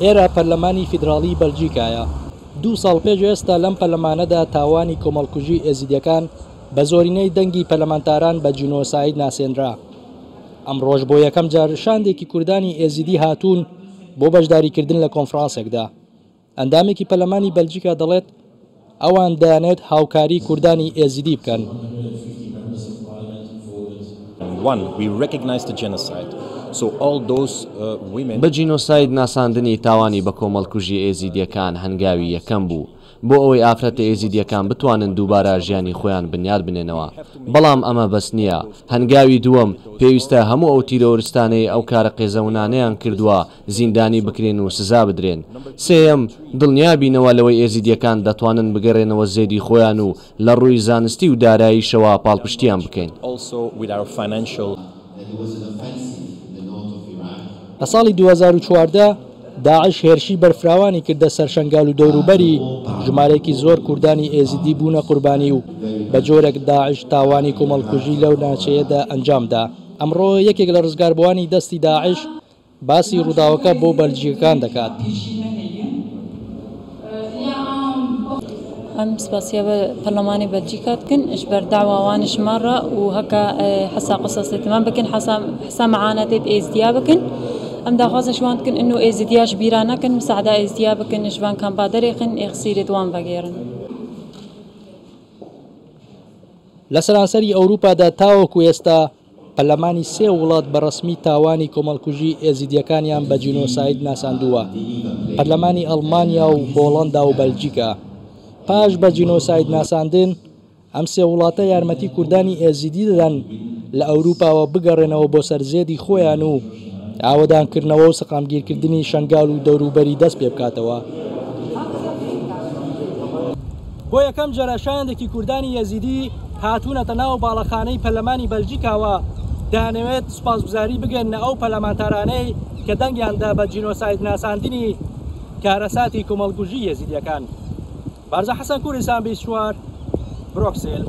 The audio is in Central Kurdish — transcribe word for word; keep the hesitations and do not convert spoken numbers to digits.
ئێرە پەرلەمانی فیدراڵی بەلجیکایە. دوو ساڵ پێش ئێستا لەم پەرلەمانەدا تاوانی کۆمەڵکوژی ئێزیدیەکان بە زۆرینەی دەنگی پەرلەمانتاران بە جینۆساید ناسێنرا. ئەمڕۆژ بۆ یەکەم جار شاندێکی کوردانی ئێزیدی هاتوون بۆ بەشداریکردن لە کۆنفرانسێکدا. ئەندامێکی پەرلەمانی بەلجیکا دەڵێت ئەوان دەیانێت هاوکاری کوردانی ئێزیدی بکەن. One, we recognize the genocide. So all those uh, women بە جینۆساید ناساندنی تاوانی بە کۆمەڵکوژی ئێزیدیەکان هەنگاوی یەکەم بوو بۆ ئەوەی ئافرەتە ئێزیدیەکان بتوانن دووبارە ژیانی خۆیان بنیاد بنێنەوە. بەڵام ئەمە بەس نییە. هەنگاوی دووەم پێویستە هەموو ئەو تیرۆریستانەی ئەو کارە قێزەونانەیان کردووە زیندانی بکرێن و سزا بدرێن. سێیەم، دڵنیا بینەوە لەوەی ئێزیدیەکان دەتوانن بگەڕێنەوە زێدی خۆیان و لە ڕووی زانستی و داراییشەوە پاڵپشتیان بکەین. also with our financial لە ساڵی دوو هەزار و چواردە داعش هێرشی بەرفراوانی کردە سەر شەنگال و دەوروبەری، ژمارەیەکی زۆر کوردانی ئێزیدی بوونە قوربانی و بە جۆرێک داعش تاوانی کۆمەڵکوژی لەو ناوچەیەدا ئەنجامدا. ئەمڕۆ یەکێک لە ڕزگاربووانی دەستی داعش باسی ڕووداوەکە بۆ بەلجیکەکان دەکات. ئەم سپاسیە بە پەرلەمانی بەلجیکا بکەن اش بەرداواوانش مەڕە و هەکە حەسا قسە تمام بکەن، حەسا حسا معاناتێت ئێزدیا بکەن. ئەم داخوازە شوان بکەن ئینو ئێزدیاش بیرا نەکەن، مساعدە ئێزدیا بکەن، ژوان کەمپا دەرێخن، ئێخسیرێت وان بەگێڕن. لە سەرانسەری ئەوروپادا تاوەکو ئێستا پەرلەمانی سێ وڵات بە ڕەسمی تاوانی کۆمەڵکوژی ئێزیدیەکانیان بە جینۆساید ناساندووە، پەرلەمانی ئەڵمانیا و هۆڵەندا و بەلجیکا. پاش بە جینۆساید ناساندن ئەم سێ وڵاتە یارمەتی کوردانی ئێزیدی دەدەن لە ئەوروپاوە بگەڕێنەوە بۆ سەر زێدی خۆیان و ئاوەدانکردنەوە و سەقامگیرکردنی شەنگال و دەوروبەری دەست پێ بکاتەوە. بۆ یەکەم جارە شاندێکی کوردانی ئێزیدی هاتوونەتە ناو باڵەخانەی پەرلەمانی بەلجیکاوە، دەیانەوێت سوپاسگوزاری بگەنە ئەو پەرلەمانتارانەی کە دەنگیاندا بە جینۆساید ناساندنی کارەساتی کۆمەڵکوژی ئێزیدیەکان. بارزان حەسەن، کوردستان بیست و چوار، برۆکسل.